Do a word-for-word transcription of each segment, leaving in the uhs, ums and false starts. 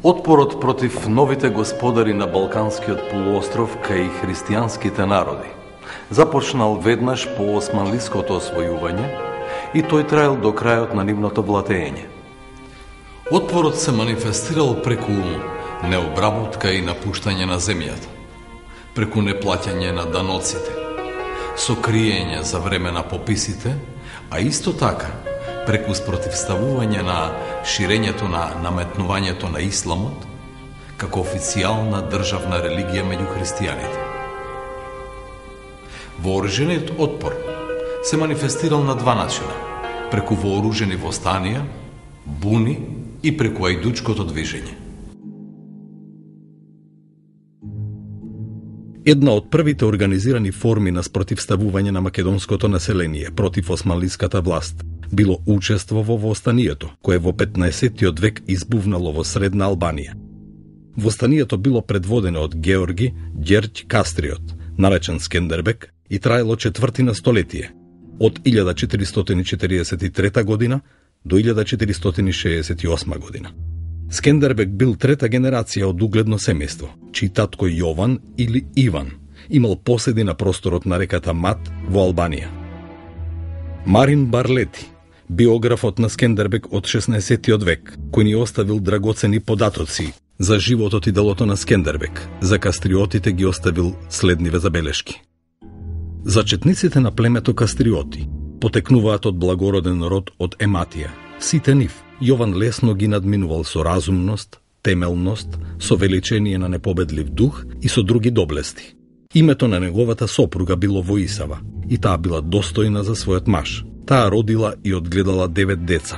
Отпорот против новите господари на Балканскиот полуостров кај христијанските народи започнал веднаш по османлиското освојување и тој траел до крајот на нивното влатење. Отпорот се манифестирал преку необработка и напуштање на земјата, преку неплаќање на даноците, со криење за време на пописите, а исто така преку спротивставување на ширењето на наметнувањето на исламот како официјална државна религија меѓу христијаните. Вооружениот отпор се манифестирал на два начина: преку вооружени востанија, буни и преку ајдучкото движење. Една од првите организирани форми на спротивставување на македонското население против османлиската власт било учество во востанието, кое во петнаесеттиот век избувнало во Средна Албанија. Востанието било предводено од Георги Ѓерѓ Кастриот, наречен Скендербек, и траело четвртина столетие, од илјада четиристотини четиридесет и трета година до илјада четиристотини шеесет и осма година. Скендербек бил трета генерација од угледно семејство, чиј татко Јован или Иван имал поседи на просторот на реката Мат во Албанија. Марин Барлети, биографот на Скендербек од шеснаесеттиот век, кој ни оставил драгоцени податоци за животот и делото на Скендербек, за кастриотите ги оставил следниве забелешки. Зачетниците на племето кастриоти потекнуваат од благороден род од Ематија. Сите нив Јован лесно ги надминувал со разумност, темелност, со величение на непобедлив дух и со други доблести. Името на неговата сопруга било Воисава и таа била достојна за својот маж. Таа родила и одгледала девет деца.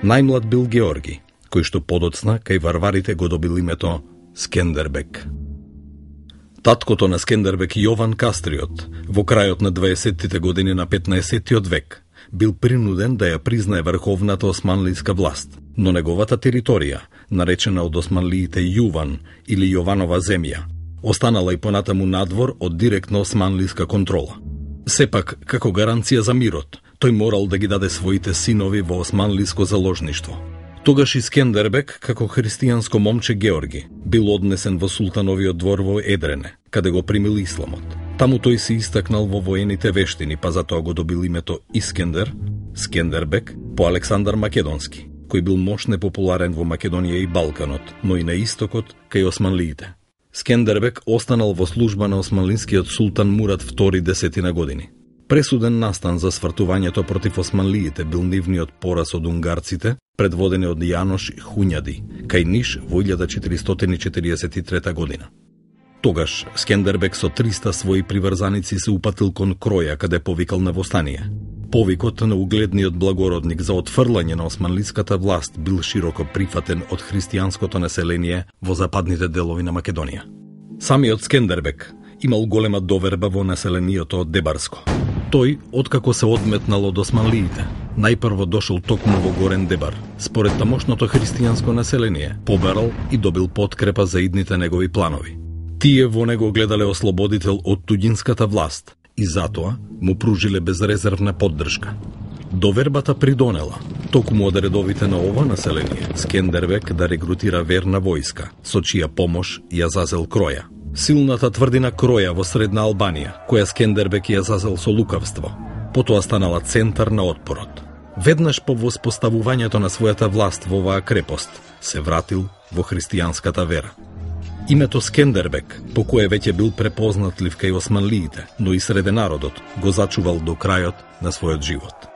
Најмлад бил Георги, кој што подоцна кај варварите го добил името Скендербек. Таткото на Скендербек, Јован Кастриот, во крајот на дваесеттите години на петнаесеттиот век, бил принуден да ја признае врховната османлиска власт, но неговата територија, наречена од османлиите Јуван или Јованова земја, останала и понатаму надвор од директна османлиска контрола. Сепак, како гаранција за мирот, тој морал да ги даде своите синови во османлиско заложништво. Тогаш и Скендербек, како христијанско момче Георги, бил однесен во султановиот двор во Едрене, каде го примил исламот. Таму тој се истакнал во воените вештини, па затоа го добил името Искендер, Скендербек, по Александар Македонски, кој бил мош непопуларен во Македонија и Балканот, но и на истокот кај османлиите. Скендербек останал во служба на османлискиот султан Мурат втори десетина години. Пресуден настан за свртувањето против османлиите бил нивниот пораз од унгарците, предводени од Јанош Хуњади, кај Ниш во илјада четиристотини четиridесет и трета година. Тогаш Скендербек со триста своји приврзаници се упатил кон Кроја, каде повикал на востание. Повикот на угледниот благородник за отфрлање на османлиската власт бил широко прифатен од христијанското население во западните делови на Македонија. Самиот Скендербек имал голема доверба во населението од Дебарско. Тој, откако се одметнал од османлиите, најпрво дошол токму во Горен Дебар. Според тамошното христијанско население, побарал и добил подкрепа за идните негови планови. Тие во него гледале ослободител од туѓинската власт и затоа му пружиле безрезервна поддршка. Довербата придонела, токму од редовите на ова население, Скендербек да регрутира верна војска, со чија помош ја зазел Кроја. Силната тврдина Кроја во Средна Албанија, која Скендербек ја зазел со лукавство, потоа станала центар на отпорот. Веднаш по воспоставувањето на својата власт во оваа крепост, се вратил во христијанската вера. Името Скендербек, по кое веќе бил препознатлив кај османлиите, но и среде народот, го зачувал до крајот на својот живот.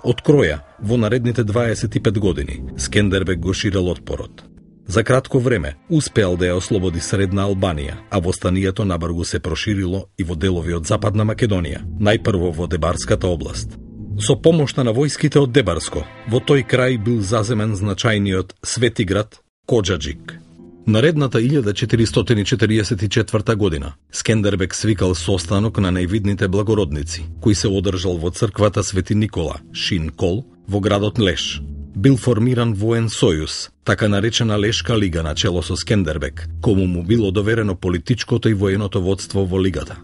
Од Кроја, во наредните дваесет и пет години, Скендербек го ширел отпорот. За кратко време успеал да ја ослободи Средна Албанија, а востанието набргу се проширило и во делови од Западна Македонија, најпрво во Дебарската област. Со помошта на војските од Дебарско, во тој крај бил заземен значајниот Свети град Коџаџик. Наредната илјада четиристотини четиridесет и четврта година, Скендербек свикал состанок на највидните благородници, кој се одржал во црквата Свети Никола, Шин Кол, во градот Леш. Бил формиран воен сојуз, така наречена Лешка лига на чело со Скендербек, кому му било доверено политичкото и военото водство во лигата.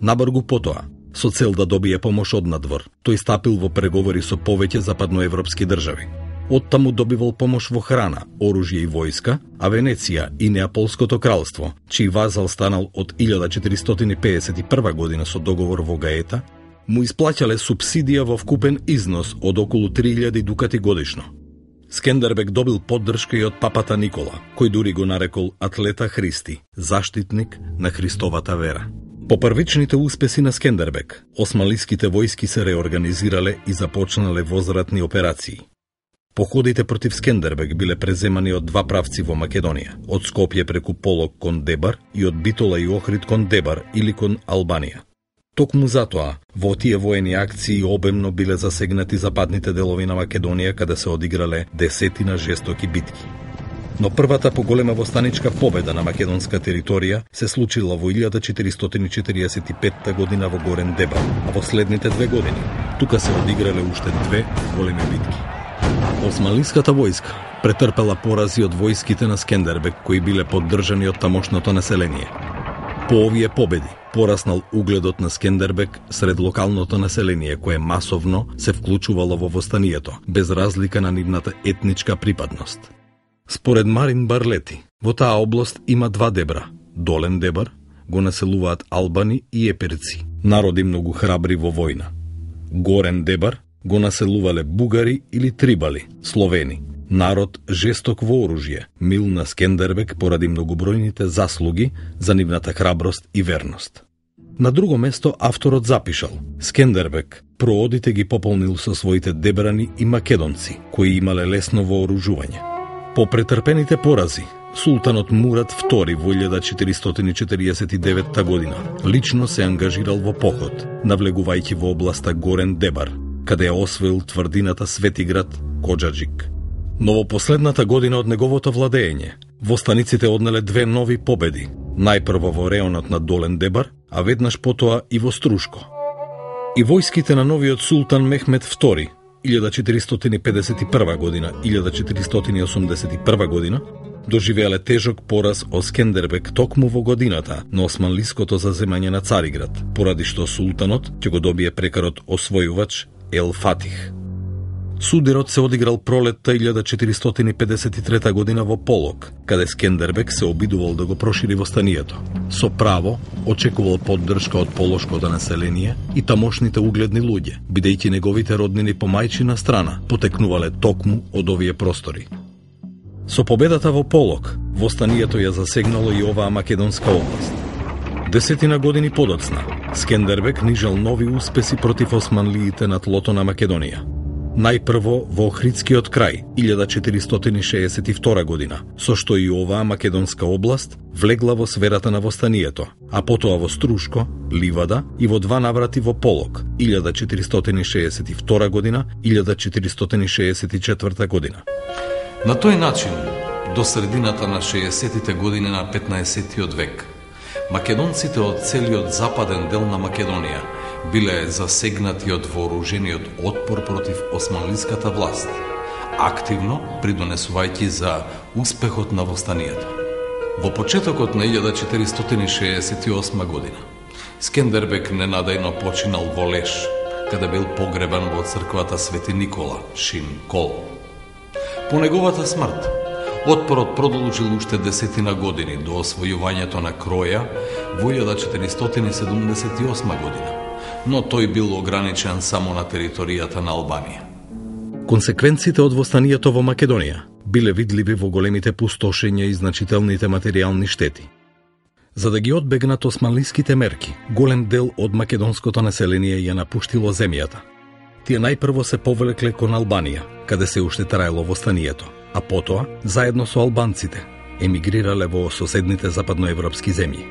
Набргу потоа, со цел да добие помош од надвор, тој стапил во преговори со повеќе западноевропски држави. Оттаму добивал помош во храна, оружје и војска, а Венеција и Неаполското кралство, чиј вазал станал од илјада четиристотини педесет и прва година со договор во Гаета, му исплаќале субсидија во вкупен износ од околу три илјади дукати годишно. Скендербек добил поддршка и од папата Никола, кој дури го нарекол атлета Христи, заштитник на Христовата вера. По првичните успеси на Скендербек, османлиските војски се реорганизирале и започнале возвратни операции. Походите против Скендербек биле преземани од два правци во Македонија, од Скопје преку Полок кон Дебар и од Битола и Охрид кон Дебар или кон Албанија. Токму затоа, во тие воени акции обемно биле засегнати западните делови на Македонија, каде се одиграле десетина жестоки битки. Но првата поголема востаничка победа на македонска територија се случила во илјада четиристотини четиридесет и петта година во Горен Дебар, а во следните две години тука се одиграле уште две големи битки. Османлиската војска претрпела порази од војските на Скендербек, кои биле поддржани од тамошното население. По овие победи пораснал угледот на Скендербек сред локалното население, кое масовно се вклучувало во востанието, без разлика на нивната етничка припадност. Според Марин Барлети, во таа област има два дебра. Долен Дебар го населуваат албани и еперци, народи многу храбри во војна. Горен Дебар го населувале бугари или трибали, словени, народ жесток во оружје, мил на Скендербек поради многобројните заслуги за нивната храброст и верност. На друго место авторот запишал: Скендербек проодите ги пополнил со своите дебрани и македонци, кои имале лесно вооружување. По претрпените порази, султанот Мурат втори во илјада четиристотини четириесет и деветта година лично се ангажирал во поход, навлегувајќи во областа Горен Дебар, каде ја освоил тврдината Светиград Коджаджик. Но во последната година од неговото владење, востаниците однеле две нови победи, најпрво во реонот на Долен Дебар, а веднаш потоа и во Струшко. И војските на новиот султан Мехмед втори, илјада четиристотини педесет и прва година - илјада четиристотини осумдесет и прва година, доживеале тежок пораз од Скендербек токму во годината на османлиското заземање на Цариград, поради што султанот ќе го добие прекарот освојувач Ел Фатих. Судирот се одиграл пролетта илјада четиристотини педесет и трета година во Полок, каде Скендербек се обидувал да го прошири востанието. Со право очекувал поддршка од полошкото население и тамошните угледни луѓе, бидејќи неговите роднини по мајчина страна потекнувале токму од овие простори. Со победата во Полок, востанието ја засегнало и оваа македонска област. Десетина години подоцна, Скендербек нижал нови успеси против османлиите на тлото на Македонија. Најпрво во Охридскиот крај, илјада четиристотини шеесет и втора година, со што и оваа македонска област влегла во сферата на востанието, а потоа во Струшко, Ливада и во два наврати во Полок, илјада четиристотини шеесет и втора година, илјада четиристотини шеесет и четврта година. На тој начин, до средината на шеесеттите години на петнаесеттиот век, македонците од целиот западен дел на Македонија биле засегнати од вооружениот отпор против османлиската власт, активно придонесувајќи за успехот на востанието. Во почетокот на илјада четиристотини шеесет и осма година, Скендербек ненадејно починал во Леш, каде бил погребан во црквата Свети Никола, Шин Кол. По неговата смрт, отпорот продолжил уште десетина години до освојувањето на Кроја во илјада четиристотини седумдесет и осма година, но тој бил ограничен само на територијата на Албанија. Консеквенците од востанието во Македонија биле видливи во големите пустошења и значителните материјални штети. За да ги одбегнат османлиските мерки, голем дел од македонското население ја напуштило земјата. Тие најпрво се повлекле кон Албанија, каде се уште траело востанието, а потоа, заедно со албанците, емигрирале во соседните западноевропски земји.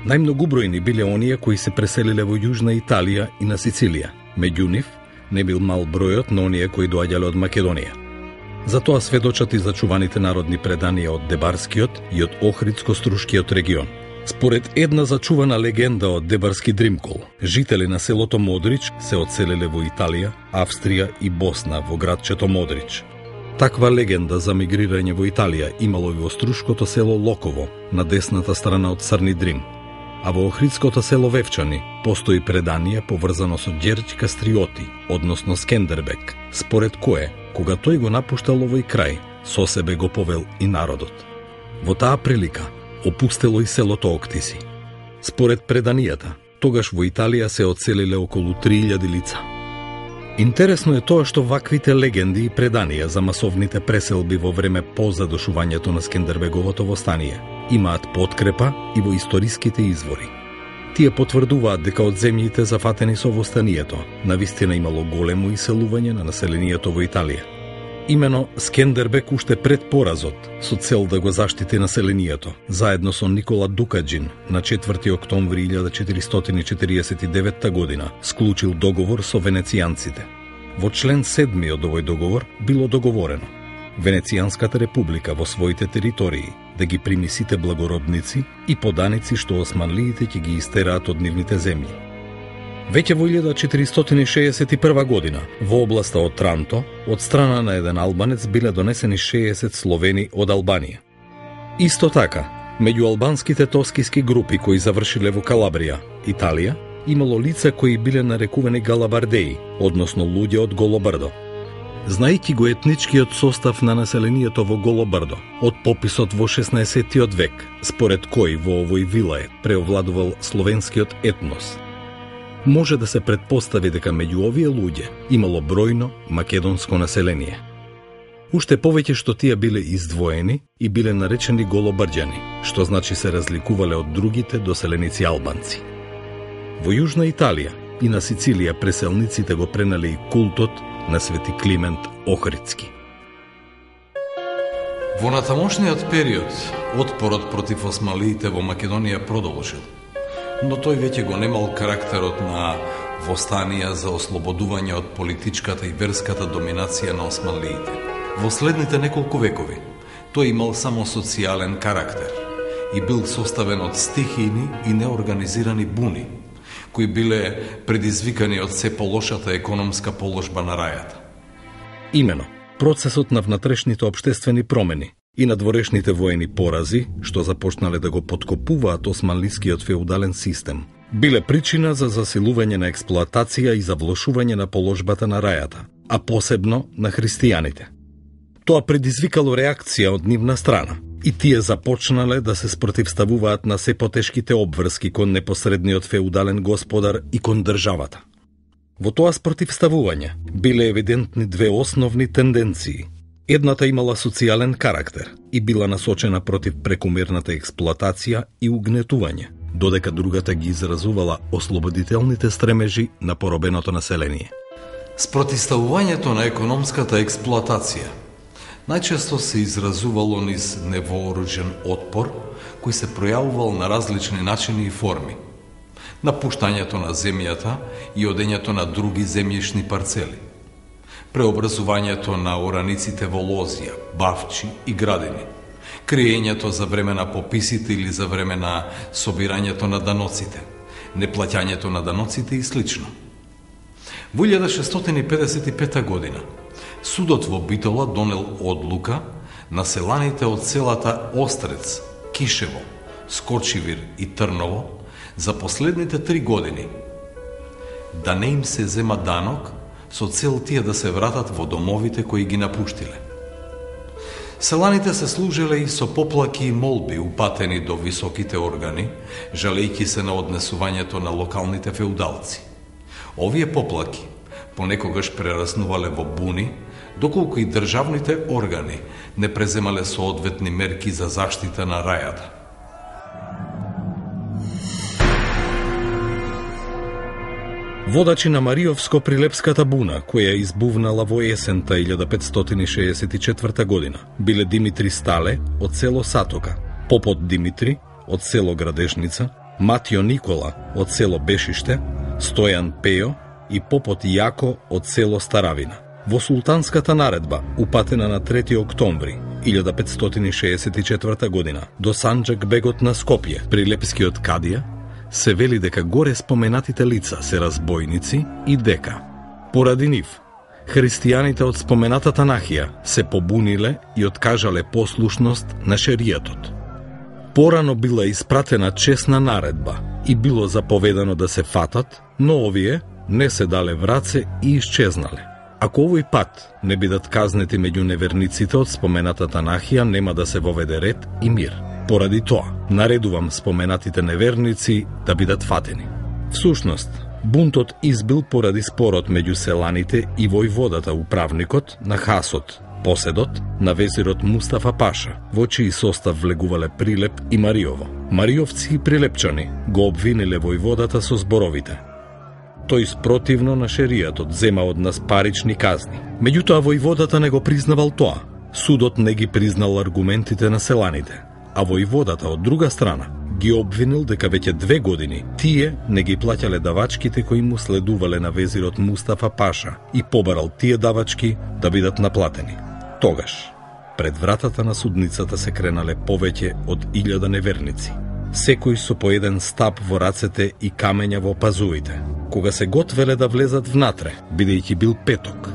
Најмногу бројни биле оние кои се преселиле во Јужна Италија и на Сицилија. Меѓу нив не бил мал бројот на оние кои доаѓале од Македонија. Затоа сведочат и зачуваните народни преданија од Дебарскиот и од Охридско-Струшкиот регион. Според една зачувана легенда од Дебарски Дримкол, жители на селото Модрич се одселиле во Италија, Австрија и Босна во градчето Модрич. Таква легенда за мигрирање во Италија имало и во Струшкото село Локово, на десната страна од Црни Дрим, а во Охридското село Вевчани постои предание поврзано со Ѓерѓ Кастриоти, односно Скендербек, според кое кога тој го напуштал овој крај, со себе го повел и народот. Во таа прилика опустело и селото Октиси. Според преданијата, тогаш во Италија се оцелиле околу три илјади лица. Интересно е тоа што ваквите легенди и преданија за масовните преселби во време по задушувањето на Скендербеговото востание имаат подкрепа и во историските извори. Тие потврдуваат дека од земјите зафатени со востанието навистина имало големо иселување на населението во Италија. Имено Скендербек уште пред поразот, со цел да го заштити населението, заедно со Никола Дукаджин на четврти октомври илјада четиристотини и четириесет и девета година склучил договор со венецијанците. Во член седми од овој договор било договорено Венецијанската република во своите територии да ги прими сите благородници и поданици што османлиите ќе ги истераат од нивните земји. Веќе во илјада четиристотини шеесет и прва година, во областа од Транто, од страна на еден албанец биле донесени шеесет словени од Албанија. Исто така, меѓу албанските тоскиски групи кои завршиле во Калабрија, Италија, имало лица кои биле нарекувани галабардеи, односно луѓе од Голобрдо. Знајќи го етничкиот состав на населението во Голобрдо, од пописот во шеснаесеттиот век, според кој во овој вилајет преовладувал словенскиот етнос, може да се претпостави дека меѓу овие луѓе имало бројно македонско население. Уште повеќе што тие биле издвоени и биле наречени голобрđани, што значи се разликувале од другите доселеници албанци. Во Јужна Италија и на Сицилија преселниците го пренеле и култот на Свети Климент Охридски. Во натамошниот период, отпорот против османлиите во Македонија продолжил, но тој веќе го немал карактерот на востанија за ослободување од политичката и верската доминација на османлиите. Во следните неколку векови, тој имал само социјален карактер и бил составен од стихијни и неорганизирани буни, кои биле предизвикани од се полошата економска положба на рајата. Имено, процесот на внатрешните општествени промени и надворешните воени порази, што започнале да го подкопуваат османлискиот феудален систем, биле причина за засилување на експлоатација и завлошување на положбата на рајата, а посебно на христијаните. Тоа предизвикало реакција од нивна страна, и тие започнале да се спротивставуваат на се потешките обврски кон непосредниот феудален господар и кон државата. Во тоа спротивставување биле евидентни две основни тенденции. Едната имала социјален карактер и била насочена против прекумерната експлоатација и угнетување, додека другата ги изразувала ослободителните стремежи на поробеното население. Спротивставувањето на економската експлоатација најчесто се изразувало низ невооружен отпор, кој се пројавувал на различни начини и форми. Напуштањето на земјата и одењето на други земјишни парцели. Преобразувањето на ораниците во лозија, бавчи и градини. Криењето за време на пописите или за време на собирањето на даноците. Неплаќањето на даноците и слично. Во илјада шестстотини педесет и пета година судот во Битола донел одлука на селаните од селата Острец, Кишево, Скочивир и Трново за последните три години да не им се зема данок со цел тие да се вратат во домовите кои ги напуштиле. Селаните се служеле и со поплаки и молби упатени до високите органи, жалејќи се на однесувањето на локалните феудалци. Овие поплаки понекогаш прераснувале во буни, доколку и државните органи не преземале соодветни мерки за заштита на рајата. Водачи на Мариовско-Прилепската буна, која избувнала во есента илјада петстотини шеесет и четврта година, биле Димитри Стале од село Сатока, попот Димитри од село Градешница, Матио Никола од село Бешиште, Стојан Пејо и попот Јако од село Старавина. Во султанската наредба, упатена на трети октомври илјада петстотини шеесет и четврта година до Санџак бегот на Скопје, прилепскиот кадија, се вели дека горе споменатите лица се разбойници и дека, поради нив, христијаните од споменатата нахија се побуниле и откажале послушност на шеријатот. Порано била испратена чесна наредба и било заповедано да се фатат, но овие не се дале враце и исчезнале, Ако овој пат не бидат казнети меѓу неверниците од споменатата нахија, нема да се воведе ред и мир. Поради тоа, наредувам споменатите неверници да бидат фатени. Всушност, бунтот избил поради спорот меѓу селаните и војводата управникот на Хасот, поседот на везирот Мустафа Паша, во чиј состав влегувале Прилеп и Мариово. Мариовци и прилепчани го обвиниле војводата со зборовите: тој спротивно на шеријатот зема од нас парични казни. Меѓутоа војводата не го признавал тоа. Судот не ги признал аргументите на селаните, а војводата од друга страна ги обвинил дека веќе две години тие не ги плаќале давачките кои му следувале на везирот Мустафа Паша и побарал тие давачки да бидат наплатени. Тогаш, пред вратата на судницата се кренале повеќе од илјада неверници, секој со по еден стап во рацете и камења во пазуите. Кога се готвеле да влезат внатре, бидејќи бил петок,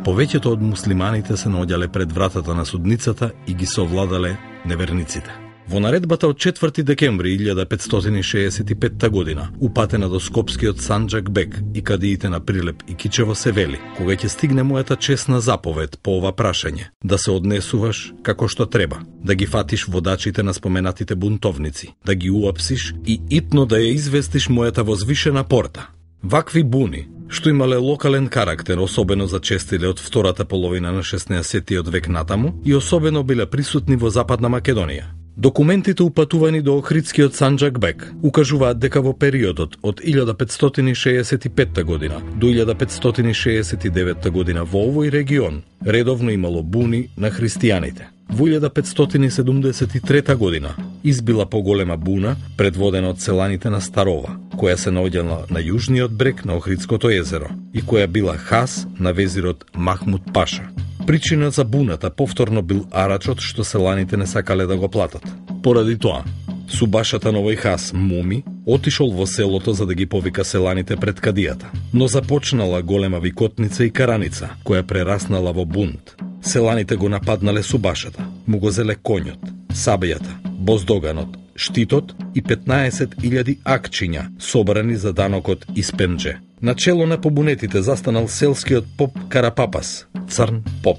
повеќето од муслиманите се наоѓале пред вратата на судницата и ги совладале неверниците. Во наредбата од четврти декември илјада петстотини шеесет и петта година, упатена до Скопскиот Санџак Бек и кадиите на Прилеп и Кичево, се вели: кога ќе стигне мојата чесна заповед по ова прашање, да се однесуваш како што треба, да ги фатиш водачите на споменатите бунтовници, да ги уапсиш и итно да ја известиш мојата возвишена порта. Вакви буни, што имале локален карактер, особено зачестиле од втората половина на шеснаесеттиот век натаму и особено биле присутни во Западна Македонија. Документите упатувани до Охридскиот Санџак Бек укажуваат дека во периодот од илјада петстотини шеесет и петта година до илјада петстотини шеесет и деветта година во овој регион редовно имало буни на христијаните. Во илјада петстотини седумдесет и трета година избила поголема буна предводена од селаните на Старова, која се наоѓала на јужниот брег на Охридското езеро и која била хас на везирот Махмуд Паша. Причина за буната повторно бил арачот што селаните не сакале да го платат. Поради тоа, субашата на овој хас Муми отишол во селото за да ги повика селаните пред кадијата, но започнала голема викотница и караница, која прераснала во бунт. Селаните го нападнале субашата, му го зеле конјот, сабејата, боздоганот, штитот и петнаесет илјади акчиња собрани за данокот Испендже. На чело на побунетите застанал селскиот поп Карапапас, Црн поп.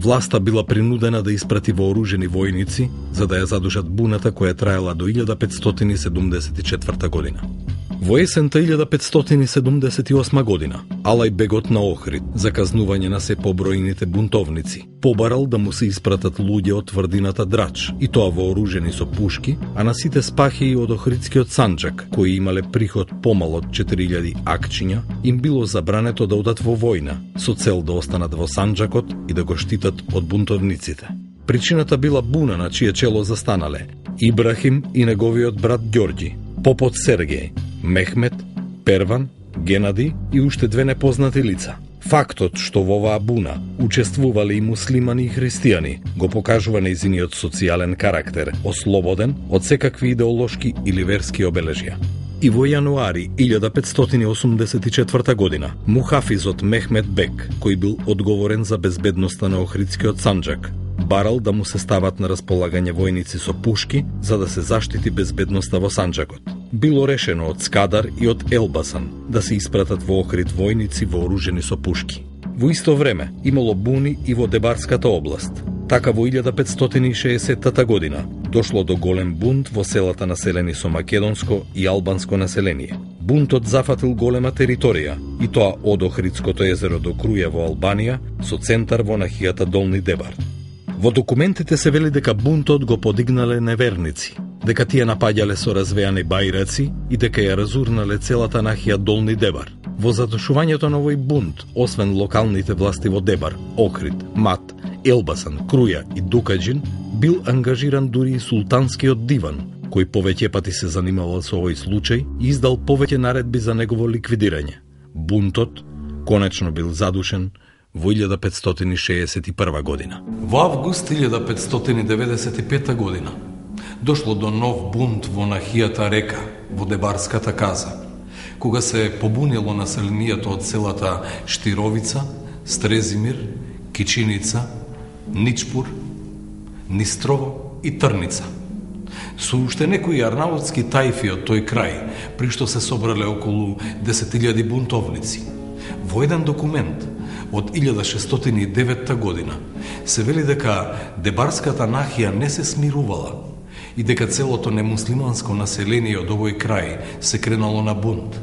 Власта била принудена да испрати вооружени војници за да ја задушат буната која траела до илјада петстотини седумдесет и четврта година. Во есента илјада петстотини седумдесет и осма година, Алај бегот на Охрид, за казнување на се побројните бунтовници, побарал да му се испратат луѓе од тврдината Драч, и тоа вооружени со пушки, а на сите спахи од Охридскиот Санџак, кои имале приход помал од четири илјади акчиња, им било забрането да одат во војна, со цел да останат во Санџакот и да го штитат од бунтовниците. Причината била буна на чие чело застанале Ибрахим и неговиот брат Ѓорѓи, попот Сергеј, Мехмет, Перван, Генади и уште две непознати лица. Фактот што во оваа буна учествувале и муслимани и христијани го покажува нејзиниот социјален карактер, ослободен од секакви идеолошки или верски обележја. И во јануари илјада петстотини осумдесет и четврта година, мухафизот Мехмет Бек, кој бил одговорен за безбедноста на Охридскиот Санџак, барал да му се стават на располагање војници со пушки за да се заштити безбедноста во Санџакот. Било решено од Скадар и од Елбасан да се испратат во Охрид војници вооружени со пушки. Во исто време имало буни и во Дебарската област. Така во илјада петстотини и шеесеттата година дошло до голем бунт во селата населени со македонско и албанско население. Бунтот зафатил голема територија, и тоа од Охридското езеро до Круја во Албанија, со центар во нахијата Долни Дебар. Во документите се вели дека бунтот го подигнале неверници, дека тие напаѓале со развејани бајраци и дека ја разурнале целата нахија Долни Дебар. Во задушувањето на овој бунт, освен локалните власти во Дебар, Охрид, Мат, Елбасан, Круја и Дукаџин, бил ангажиран дури и султанскиот диван, кој повеќе пати се занимавал со овој случај и издал повеќе наредби за негово ликвидирање. Бунтот конечно бил задушен во илјада петстотини шеесет и прва година. Во август илјада петстотини деветдесет и пета година дошло до нов бунт во нахијата Река, во Дебарската каза, кога се побунило населението од селата Штировица, Стрезимир, Кичиница, Ничпур, Нистрово и Трница. Со уште некои арнаутски тајфи од тој крај, при што се собрале околу десет илјади бунтовници. Во еден документ, од илјада шестстотини и девета година се вели дека дебарската нахија не се смирувала и дека целото немуслиманско население од овој крај се кренало на бунт.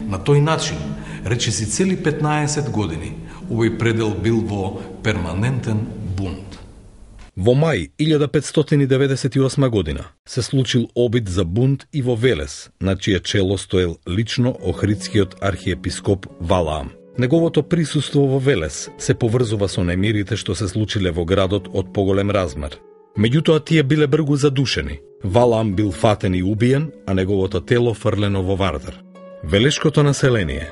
На тој начин, речиси цели петнаесет години, овој предел бил во перманентен бунт. Во мај илјада петстотини деветдесет и осма година се случил обид за бунт и во Велес, на чие чело стоел лично охридскиот архиепископ Валаам. Неговото присуство во Велес се поврзува со немирите што се случиле во градот од поголем размер. Меѓутоа тие биле бргу задушени. Валаам бил фатен и убиен, а неговото тело фрлено во Вардар. Велешкото население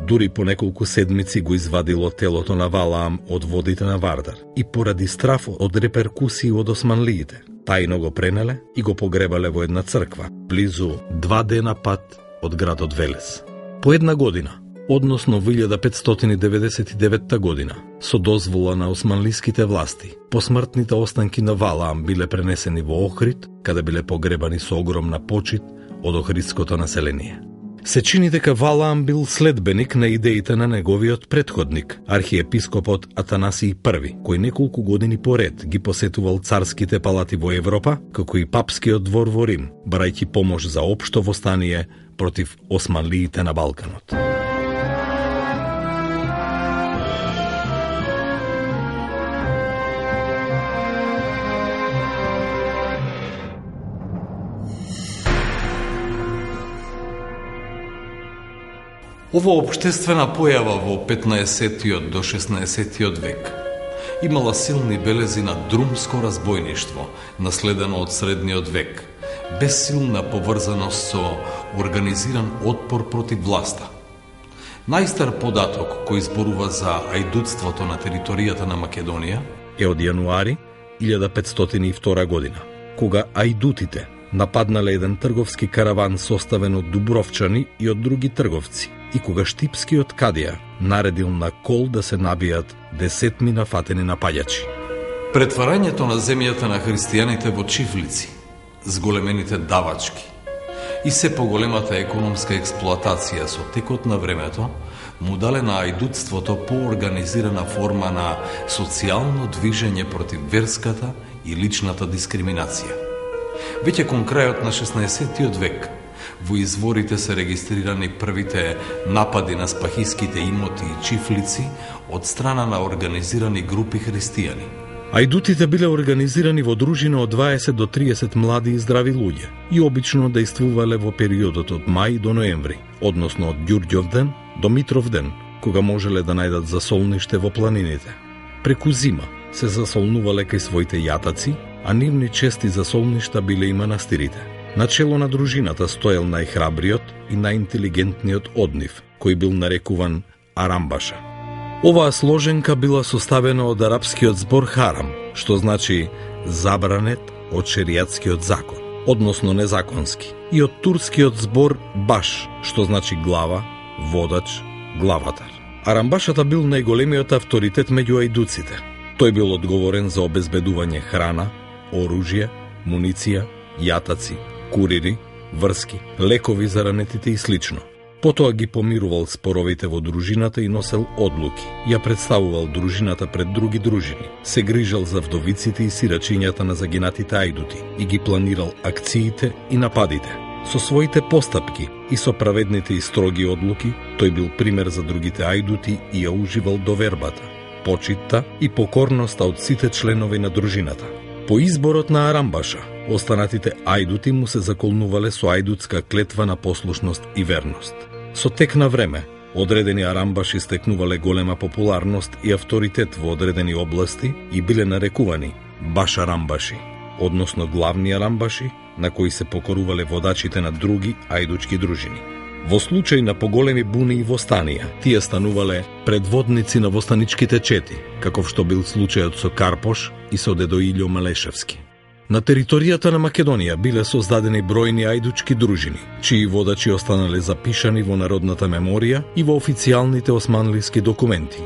дури по неколку седмици го извадило телото на Валаам од водите на Вардар и поради страф од реперкусии од османлиите, тајно го пренеле и го погребале во една црква, близу два дена пат од градот Велес. По една година, односно во илјада петстотини деветдесет и девета година, со дозвола на османлиските власти, посмртните останки на Валаам биле пренесени во Охрид, каде биле погребани со огромна почит од охридското население. Се чини дека Валаам бил следбеник на идеите на неговиот претходник, архиепископот Атанасиј Први, кој неколку години поред ги посетувал царските палати во Европа, како и папскиот двор во Рим, барајќи помош за општо востание против османлиите на Балканот. Ова општествена појава во петнаесеттиот до шеснаесеттиот век имала силни белези на друмско разбојништво, наследено од средниот век, без силна поврзаност со организиран отпор против власта. Најстар податок кој зборува за ајдутството на територијата на Македонија е од јануари илјада петстотини и втора година, кога ајдутите нападнале еден трговски караван составен од дубровчани и од други трговци, и кога штипскиот кадија наредил на кол да се набијат десетми нафатени напаѓачи. Претварањето на земјата на христијаните во чифлици, зголемените давачки и се поголемата економска експлоатација со текот на времето му дале на ајдутството поорганизирана форма на социјално движење против верската и личната дискриминација. Веќе кон крајот на шеснаесеттиот век во изворите се регистрирани првите напади на спахиските имоти и чифлици од страна на организирани групи христијани. Ајдутите биле организирани во дружина од дваесет до триесет млади и здрави луѓе и обично действувале во периодот од мај до ноември, односно од Ѓурѓовден до Митровден, кога можеле да најдат засолниште во планините. Преку зима се засолнувале кај своите јатаци, а нивни чести засолништа биле и манастирите. Начело на дружината стоел најхрабриот и најинтелигентниот од нив, кој бил нарекуван Арамбаша. Оваа сложенка била составена од арапскиот збор харам, што значи забранет од шеријатскиот закон, односно незаконски, и од турскиот збор баш, што значи глава, водач, главатар. Арамбашата бил најголемиот авторитет меѓу ајдуците. Тој бил одговорен за обезбедување храна, оружје, муниција, јатаци, курири, врски, лекови за ранетите и слично. Потоа ги помирувал споровите во дружината и носел одлуки. Ја представувал дружината пред други дружини. Се грижал за вдовиците и сирачињата на загинатите ајдути и ги планирал акциите и нападите. Со своите постапки и со праведните и строги одлуки, тој бил пример за другите ајдути и ја уживал довербата, почитта и покорноста од сите членови на дружината. По изборот на Арамбаша, останатите ајдути му се заколнувале со ајдутска клетва на послушност и верност. Со тек на време, одредени арамбаши стекнувале голема популарност и авторитет во одредени области и биле нарекувани баш арамбаши, односно главни арамбаши, на кои се покорувале водачите на други ајдучки дружини. Во случај на поголеми буни и востанија, тие станувале предводници на востаничките чети, каков што бил случајот со Карпош и со дедо Илјо Малешевски. На територијата на Македонија биле создадени бројни ајдучки дружини, чии водачи останале запишани во народната меморија и во официјалните османлиски документи.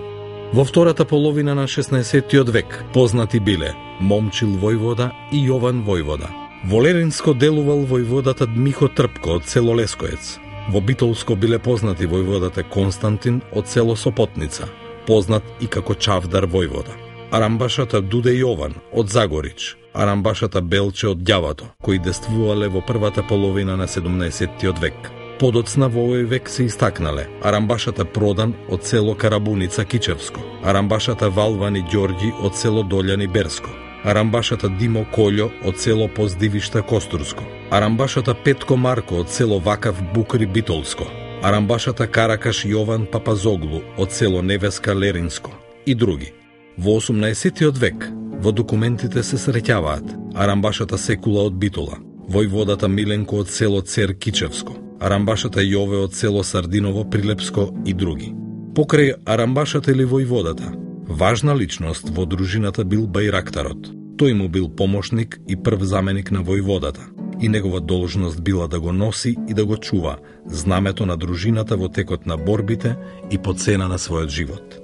Во втората половина на шеснаесеттиот век познати биле Момчил војвода и Јован војвода. Во Леринско делувал војводата Дмихо Трпко од село Лескоец. Во Битолско биле познати војводата Константин од село Сопотница. познат и како Чавдар војвода. Арамбашата Дуде Јован од Загорич, Арамбашата Белче од Ѓавато, кои действувале во првата половина на седумнаесеттиот век. Подоцна во овој век се истакнале Арамбашата Продан од село Карабуница Кичевско, Арамбашата Валвани Ѓорѓи од село Долјани Берско, Арамбашата Димо Колјо од село Поздивишта Костурско, Арамбашата Петко Марко од село Вакав Букри Битолско, Арамбашата Каракаш Јован Папазоглу од село Невеска Леринско и други. Во осумнаесеттиот век во документите се среќаваат Арамбашата Секула од Битола, војводата Миленко од село Цер Кичевско, Арамбашата Јове од село Сардиново Прилепско и други. Покрај Арамбашата или војводата, важна личност во дружината бил Бајрактарот. Тој му бил помошник и прв заменик на војводата и негова должност била да го носи и да го чува знамето на дружината во текот на борбите и по цена на својот живот.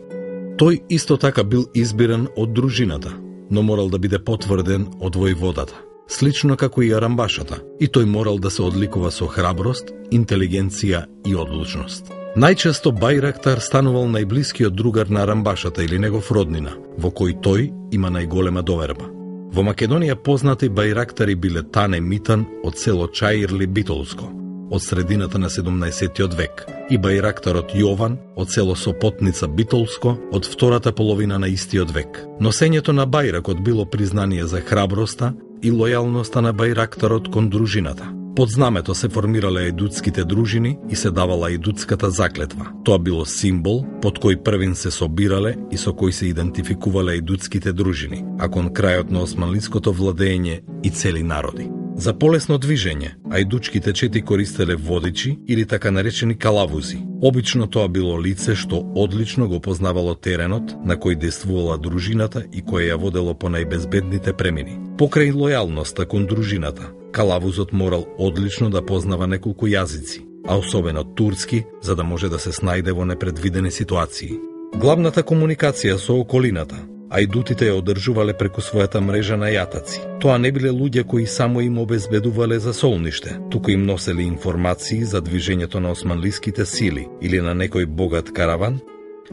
Тој исто така бил избиран од дружината, но морал да биде потврден од војводата, слично како и Арамбашата, и тој морал да се одликува со храброст, интелигенција и одлучност. Најчесто Бајрактар станувал најблискиот другар на Арамбашата или негов роднина, во кој тој има најголема доверба. Во Македонија познати Бајрактари биле Тане Митан од село Чаирли Битолско, од средината на седумнаесеттиот век, и Бајрактарот Јован од село Сопотница Битолско од втората половина на истиот век. Носењето на бајракот било признание за храброста и лојалноста на Бајрактарот кон дружината. Под знамето се формирале ајдутските дружини и се давала ајдутската заклетва. Тоа било символ под кој првин се собирале и со кој се идентификувале ајдутските дружини, а кон крајот на османлиското владење и цели народи. За полесно движење, ајдучките чети користеле водичи или така наречени калавузи. Обично тоа било лице што одлично го познавало теренот на кој действувала дружината и кој ја водело по најбезбедните премини. Покрај лојалноста кон дружината, калавузот морал одлично да познава неколку јазици, а особено турски, за да може да се снајде во непредвидени ситуации. Главната комуникација со околината, ајдутите ја одржувале преку својата мрежа на јатаци. Тоа не биле луѓе кои само им обезбедувале за солниште, туку им носели информации за движењето на османлиските сили или на некој богат караван,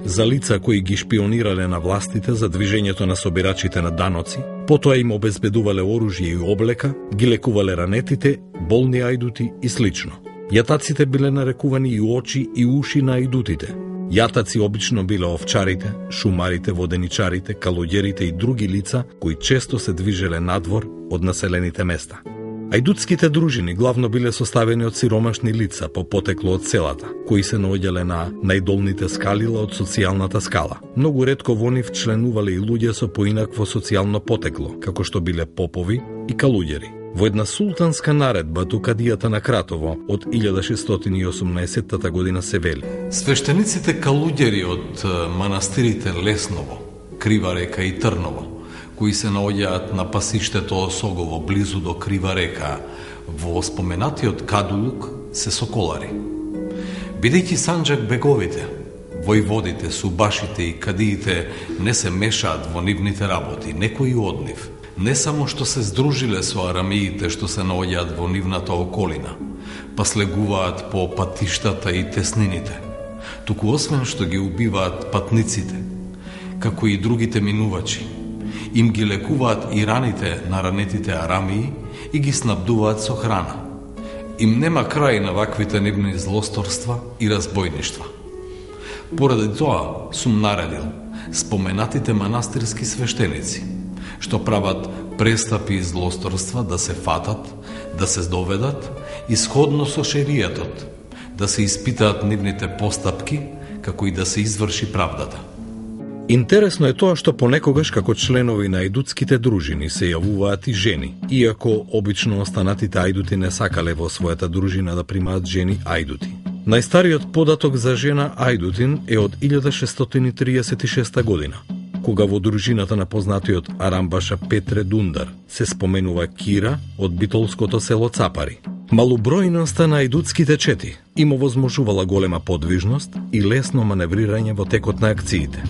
за лица кои ги шпионирале на властите за движењето на собирачите на даноци, потоа им обезбедувале оружје и облека, ги лекувале ранетите, болни ајдути и слично. Јатаците биле нарекувани и очи и уши на ајдутите. Јатаци обично биле овчарите, шумарите, воденичарите, калуѓерите и други лица кои често се движеле надвор од населените места. Ајдутските дружини главно биле составени од сиромашни лица по потекло од селата, кои се наоѓале на најдолните скалила од социјалната скала. Многу ретко во нив членувале и луѓе со поинакво социјално потекло, како што биле попови и калуѓери. Во една султанска наредба до кадијата на Кратово од илјада шестстотини и осумнаесеттата година се вели: свештениците калуѓери од манастирите Лесново, Крива река и Трново, кои се наоѓаат на пасиштето Осогово близу до Крива река, во споменатиот Кадулук се соколари. Бидејќи Санџак беговите, војводите, субашите и кадиите не се мешаат во нивните работи, некои од нив не само што се здружиле со арамиите што се наоѓаат во нивната околина, па слегуваат по патиштата и теснините, туку освен што ги убиваат патниците, како и другите минувачи, им ги лекуваат и раните на ранетите арамии и ги снабдуваат со храна. Им нема крај на ваквите нивни злосторства и разбојништва. Поради тоа сум наредил споменатите манастирски свештеници, што прават престапи и злосторства, да се фатат, да се доведат и сходно со шеријатот, да се испитаат нивните постапки, како и да се изврши правдата. Интересно е тоа што понекогаш како членови на ајдутските дружини се јавуваат и жени, иако обично останатите ајдути не сакале во својата дружина да примаат жени ајдути. Најстариот податок за жена ајдутин е од илјада шестстотини триесет и шеста година, кога во дружината на познатиот Арамбаша Петре Дундар се споменува Кира од битолското село Цапари. Малобројноста на ајдутските чети им овозможувала голема подвижност и лесно маневрирање во текот на акциите.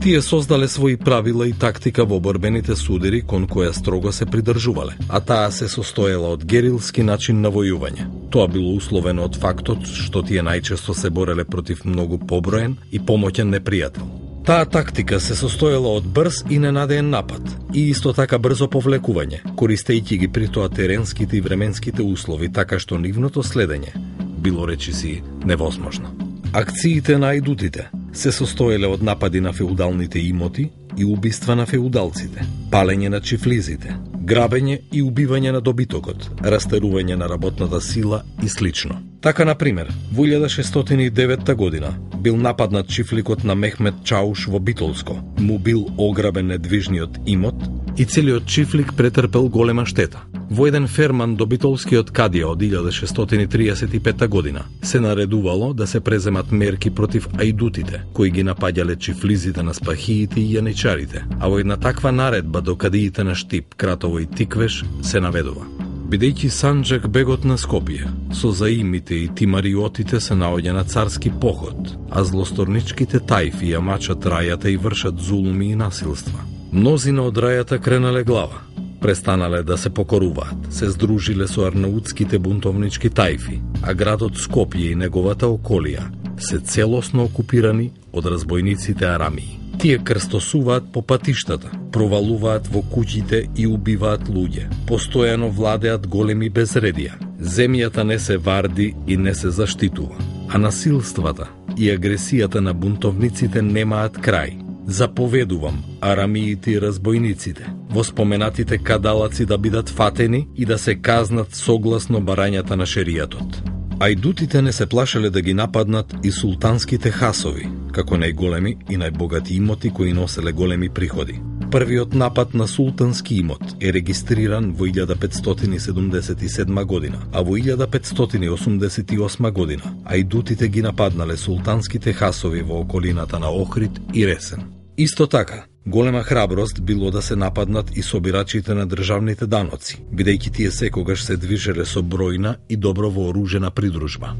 Тие создале своји правила и тактика во борбените судери кон која строго се придржувале, а таа се состоела од герилски начин на војување. Тоа било условено од фактот што тие најчесто се бореле против многу поброен и помоќен непријател. Таа тактика се состоела од брз и ненадеен напад и исто така брзо повлекување, користејќи ги при тоа теренските и временските услови, така што нивното следење било речиси невозможно. Акциите на ајдутите се состоеле од напади на феудалните имоти и убиства на феудалците, палење на чифлизите, грабење и убивање на добитокот, растерување на работната сила и слично. Така, например, во илјада шестстотини и девета година бил нападнат чифликот на Мехмет Чауш во Битолско, му бил ограбен недвижниот имот и целиот чифлик претрпел голема штета. Во еден ферман до Битолскиот кадија од илјада шестстотини триесет и пета година се наредувало да се преземат мерки против ајдутите, кои ги напаѓале чифлизите на спахиите и јаничарите, а во една таква наредба до кадиите на Штип, Кратово и Тиквеш се наведува: бидејќи Санџак бегот на Скопје, со заимите и тимариотите се наоѓа на царски поход, а злосторничките тајфи ја мачат рајата и вршат зулуми и насилства. Мнозина од рајата кренале глава, престанале да се покоруваат, се здружиле со арнаутските бунтовнички тајфи, а градот Скопје и неговата околија се целосно окупирани од разбойниците арамии. Тие крстосуваат по патиштата, провалуваат во куќите и убиваат луѓе. Постојано владеат големи безредија. Земјата не се варди и не се заштитува, а насилствата и агресијата на бунтовниците немаат крај. Заповедувам арамиите и разбойниците во споменатите кадалаци да бидат фатени и да се казнат согласно барањата на шеријатот. Ајдутите не се плашеле да ги нападнат и султанските хасови, како најголеми и најбогати имоти кои носеле големи приходи. Првиот напад на султански имот е регистриран во илјада петстотини седумдесет и седма година, а во илјада петстотини осумдесет и осма година ајдутите ги нападнале султанските хасови во околината на Охрид и Ресен. Исто така, голема храброст било да се нападнат и собирачите на државните даноци, бидејќи тие секогаш се движеле со бројна и добро вооружена придружба.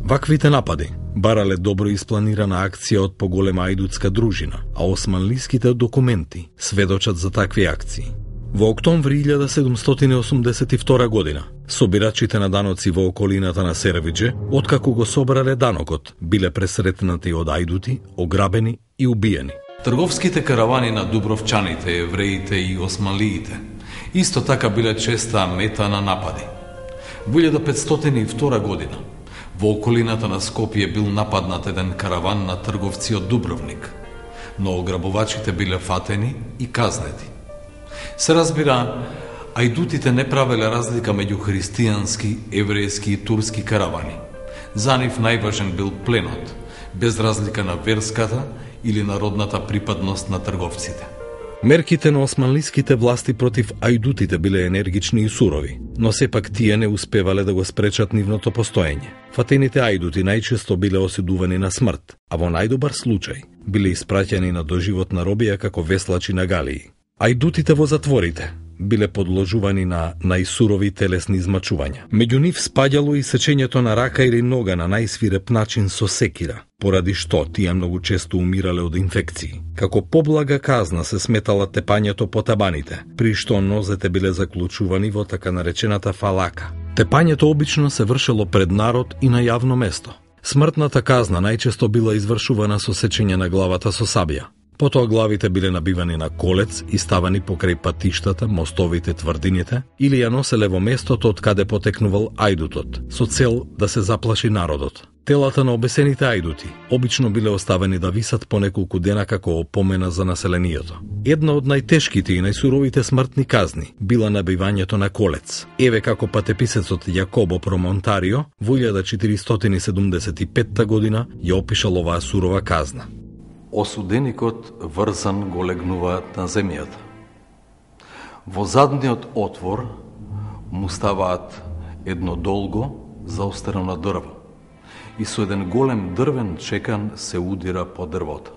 Ваквите напади барале добро испланирана акција од поголема ајдутска дружина, а османлиските документи сведочат за такви акции. Во октомври илјада седумстотини осумдесет и втора година, собирачите на даноци во околината на Серевиџе, откако го собрале данокот, биле пресретнати од ајдути, ограбени и убиени. Трговските каравани на дубровчаните, евреите и османлиите исто така биле честа мета на напади. Во илјада петстотини и втора година во околината на Скопје бил нападнат еден караван на трговци од Дубровник, но ограбувачите биле фатени и казнети. Се разбира, ајдутите не правеле разлика меѓу христијански, еврејски и турски каравани. За нив најважен бил пленот, без разлика на верската или народната припадност на трговците. Мерките на османлиските власти против ајдутите биле енергични и сурови, но сепак тие не успевале да го спречат нивното постоење. Фатените ајдути најчесто биле осудувани на смрт, а во најдобар случај биле испраќани на доживотна робија како веслачи на галии. Ајдутите во затворите биле подложувани на најсурови телесни измачувања. Меѓу нив спаѓало и сечењето на рака или нога на најсвиреп начин со секира, поради што тие многу често умирале од инфекции. Како поблага казна се сметала тепањето по табаните, при што нозете биле заклучувани во така наречената фалака. Тепањето обично се вршело пред народ и на јавно место. Смртната казна најчесто била извршувана со сечење на главата со сабја. Потоа главите биле набивани на колец и ставани покрај патиштата, мостовите, тврдините, или ја носеле во местото од каде потекнувал ајдутот, со цел да се заплаши народот. Телата на обесените ајдути обично биле оставени да висат по неколку дена како опомена за населението. Една од најтешките и најсуровите смртни казни била набивањето на колец. Еве како патеписецот Јакобо Промонтарио во илјада четиристотини седумдесет и петта година ја опишал оваа сурова казна. Осуденикот врзан го легнуваат на земјата. Во задниот отвор му ставаат едно долго заострено дрво и со еден голем дрвен чекан се удира по дрвото.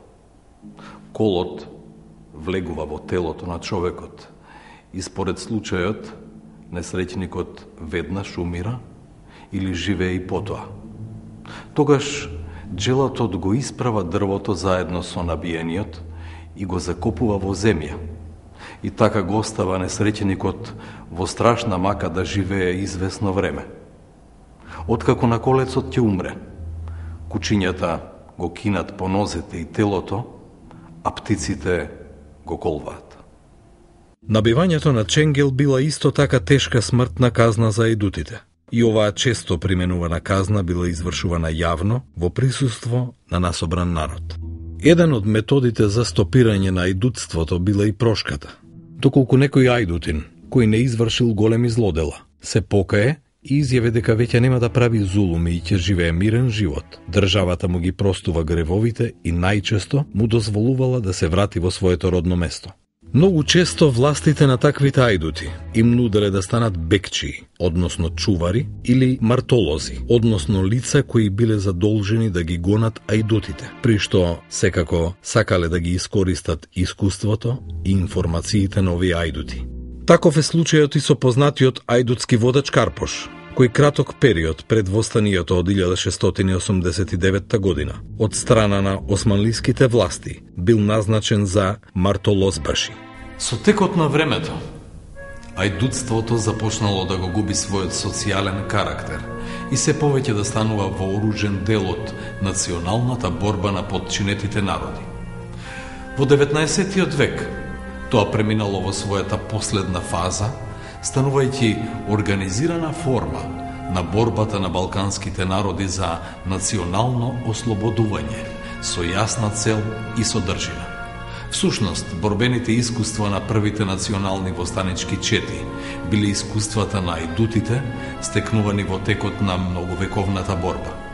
Колот влегува во телото на човекот и според случајот несреќникот веднаш умира или живее и потоа. Тогаш джелатот го исправа дрвото заедно со набиениот и го закопува во земја. И така го остава несреќеникот во страшна мака да живее извесно време. Откако на колецот ќе умре, кучињата го кинат по нозете и телото, а птиците го колваат. Набивањето на ченгел била исто така тешка смртна казна за ајдутите. И оваа често применувана казна била извршувана јавно во присуство на насобран народ. Еден од методите за стопирање на ајдутството била и прошката. Доколку некој ајдутин, кој не извршил големи злодела, се покае и изјави дека веќе нема да прави зулуми и ќе живее мирен живот, државата му ги простува гревовите и најчесто му дозволувала да се врати во своето родно место. Многу често властите на таквите ајдути им нуделе да станат бекчии, односно чувари, или мартолози, односно лица кои биле задолжени да ги гонат ајдутите, при што секако сакале да ги искористат искуството и информациите на овие ајдути. Таков е случајот и со познатиот ајдутски водач Карпош, кој краток период пред востанието од илјада шестстотини осумдесет и девета година од страна на османлиските власти бил назначен за мартолозбаши. Со текот на времето, ајдутството започнало да го губи својот социјален карактер и се повеќе да станува вооружен дел од националната борба на потчинетите народи. Во деветнаесеттиот век тоа преминало во својата последна фаза, станувајќи организирана форма на борбата на балканските народи за национално ослободување, со јасна цел и содржина. Всушност, борбените искуства на првите национални востанички чети биле искуствата на ајдутите, стекнувани во текот на многовековната борба.